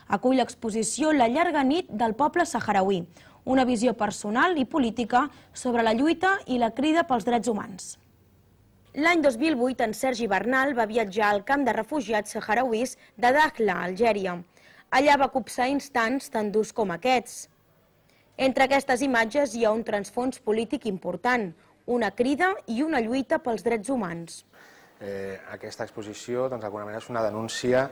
acull l'exposició La llarga nit del poble saharauí, una visió personal i política sobre la lluita i la crida pels drets humans. L'any 2008, en Sergi Bernal va viatjar al camp de refugiats saharauís de Dakhla, Algèria. Allà va copsar instants tan durs com aquests. Entre aquestes imatges hi ha un transfons polític important, una crida i una lluita pels drets humans. Aquesta exposició, d'alguna manera, és una denúncia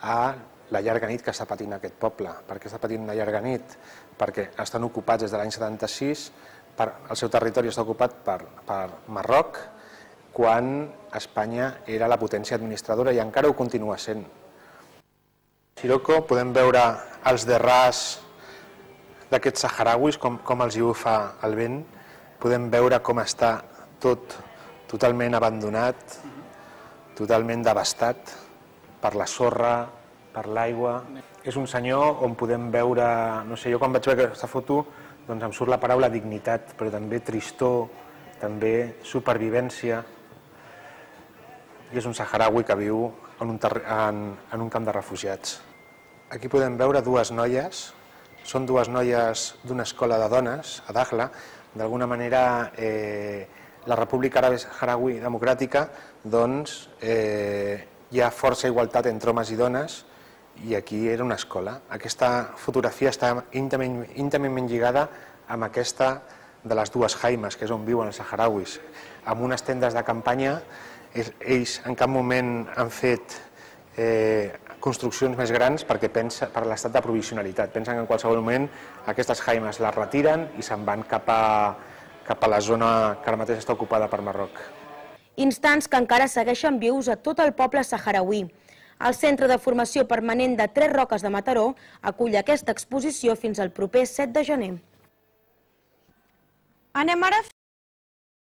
a la llarga nit que està patint aquest poble. Per què està patint una llarga nit? Perquè estan ocupats des de l'any 76, el seu territori està ocupat per Marroc, quan Espanya era la potència administradora i encara ho continua sent. A Sirocco podem veure els derrars d'aquests saharauis, com els hi bufa el vent. Podem veure com està tot totalment abandonat, totalment devastat per la sorra, per l'aigua. És un senyor on podem veure, no sé, jo quan vaig veure aquesta foto doncs em surt la paraula dignitat, però també tristor, també supervivència. I és un saharaui que viu en un camp de refugiats. Aquí podem veure dues noies, són dues noies d'una escola de dones a Dakhla. D'alguna manera, la República Àrab Saharaui Democràtica, doncs, hi ha força igualtat entre homes i dones, i aquí era una escola. Aquesta fotografia està íntimament lligada amb aquesta de les dues jaimes, que és on viuen els saharauis. Amb unes tendes de campanya, ells en cap moment han fet construccions més grans perquè per l'estat de provisionalitat. Pensen que en qualsevol moment aquestes jaimes les retiren i se'n van cap a la zona que ara mateix està ocupada per Marroc. Instants que encara segueixen vius a tot el poble saharauí. El Centre de Formació Permanent de Tres Roques de Mataró acull aquesta exposició fins al proper 7 de gener. Anem ara